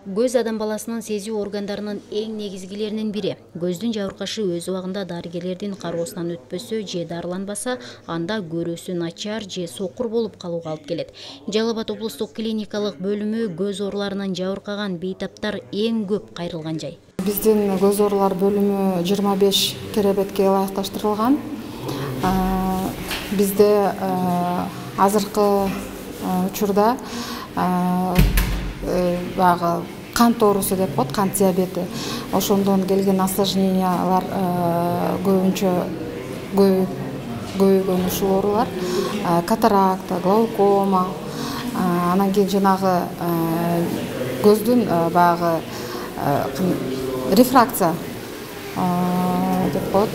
Көз адам баласынын сезүү органдарынын эң негизгилеринин бири. Көздүн жабыркашы өз убагында дарыгерлердин кароосунан өтпөсө же дарыланбаса, анда көрүүсү начар же сокур болуп калууга алып келет. Жалал Абад облустук клиникалык бөлүмү көз ооруларынан жабыркаган бейтаптар эң көп кайрылган жай. Биздин көз оорулар бөлүмү 25 керебетке ылайыкташтырылган. Бизде азыркы учурда баягы кант оорусу деп коет, кант диабети. Ошондон келген осложнениялар көбүнчө көбөйгөн ушул оорулар. Катаракта, глаукома, анан кийин жанагы көздүн баягы рефракция деп коет,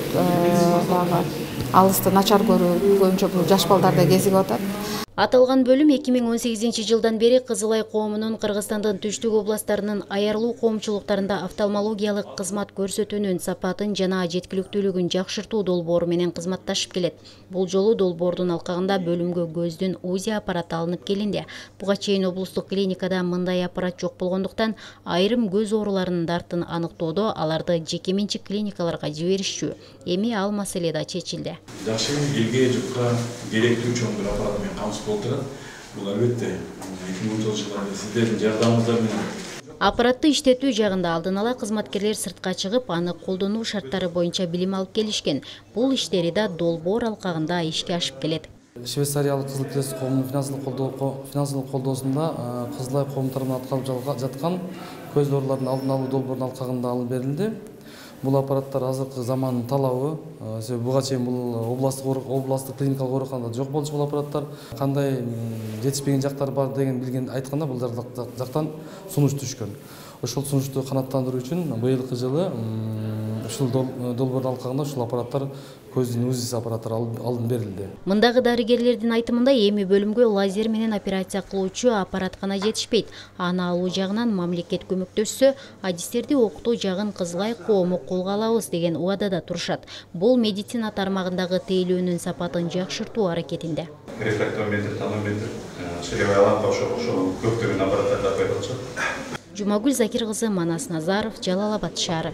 баягы алысты начар көрүү көбүнчө бул жаш балдарда кезигип атат. Аталган бөлүм 2018 жылдан бери Кызылай коомунун Кыргызстандын түштүк областтарынын аярылуу коомчулуктарында офтальмологиялык кызмат көрсөтүүнүн сапатын жана жеткиликтүүлүгүн жакшыртуу долбоору менен кызматташып келет. Бул жолу долбоордун алкагында бөлүмгө көздүн УЗИ аппараты алынып келинди. Буга чейин облустук клиникада мындай аппарат жок болгондуктан айрым көз ооруларынын дартын аныктоодо аларды жеке менчик клиникаларга жиберишчү. Эми ал маселе да чечилди. Жакшы элге жукка керектүү чоң бир аппарат менен камсыз болуп турат. Бул албетте 2010 жылдарда сиздердин жардамыңыздар менен. Аппаратты иштетүү жагында алдын ала кызматкерлер сыртка чыгып, аны колдонуу шарттары боюнча билим алып келишкен. Бул иштери да долбоор алкагында ишке ашып келет. Швейцариялык Кызыл Крест коомунун финансылык колдоосунда Кызылай коому тарабынан аткарылып жаткан көз ооруларынын алдын алуу долбоорунун алкагында алып берилди. Бул аппараттар азыркы замандын талабы. Себеби буга чейин бул областтык клиникалык ооруканада жок болчу бул аппараттар. Кандай жетишпеген жактары бар деген билген айтканда бул жактан сунуш түшкөн. Ошол сунушту канааттандыруу үчүн быйылкы жылы ушул долбоордун алкагында ушул аппараттар көздүн УЗИ аппараттары алынып берилди. Мындагы дарыгерлердин айтымында эми бөлүмгө лазер менен операция кылуучу аппарат гана жетишпейт. Аны алуу жагынан мамлекет көмөктөшсө, адистерди окутуу жагын Кызылай коому колго алабыз деген убадада турушат. Бул медицина тармагындагы тейлөөнүн сапатын жакшыртуу аракетинде. Рефрактометр, тонометр, ширеевая лампа ошол көптөгөн аппараттарды коюп атышат. Жумагүл Закир кызы, Манас Назаров, Жалал Абад шаары.